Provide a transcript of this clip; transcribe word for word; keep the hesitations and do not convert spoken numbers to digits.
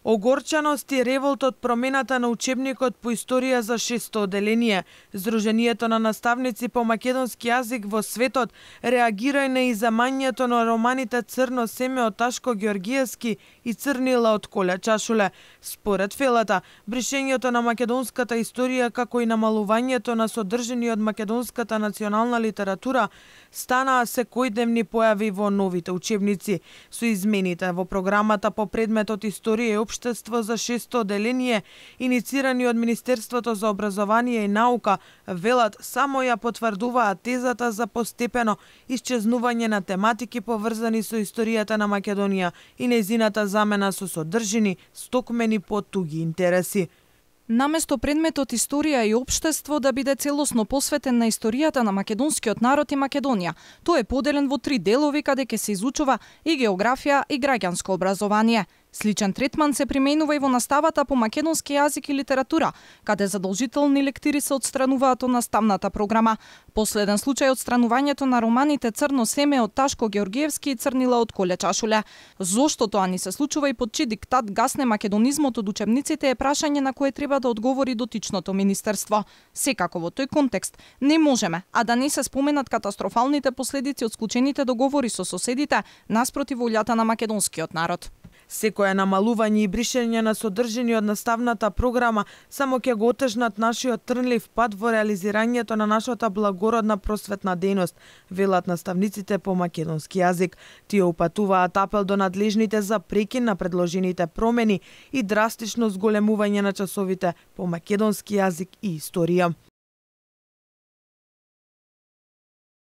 Огорчаност и револт од промената на учебникот по историја за шесто оделение. Сдруженијето на наставници по македонски јазик во светот реагира и на изамањето на романите Црно семе од Ташко Ѓоргиевски и Црнила од Коля Чашуле. Според Фелата, бришењето на македонската историја како и намалувањето на содржини од македонската национална литература станаа секојдневни појави во новите учебници. Со измените во програмата по предметот Историја и општество за шесто оделение, иницирани од Министерството за образование и наука, велат само ја потврдуваат тезата за постепено исчезнување на тематики поврзани со историјата на Македонија и нејзината замена со содржини, стокмени по туги интереси. Наместо предметот Историја и општество да биде целосно посветен на историјата на македонскиот народ и Македонија, тој е поделен во три делови каде ќе се изучува и географија и граѓанско образование. Сличен третман се применува и во наставата по македонски јазик и литература, каде задолжителни лектири се отстрануваат од наставната програма. Последен случај отстранувањето на романите Црно семе од Ташко Ѓоргиевски и Црнила од Коля Чашуле. Зошто тоа ни се случува и под чиј диктат гасне македонизмот од учебниците е прашање на кое треба да одговори дотичното министерство. Секако во тој контекст не можеме, а да не се споменат катастрофалните последици од склучените договори со соседите наспроти волјата на македонскиот народ. Секое намалување и бришење на содржини од наставната програма само ќе го отежнат нашиот трнлив пат во реализирањето на нашата благородна просветна дејност, велат наставниците по македонски јазик. Тие упатуваат апел до надлежните за прекин на предложените промени и драстично зголемување на часовите по македонски јазик и историја.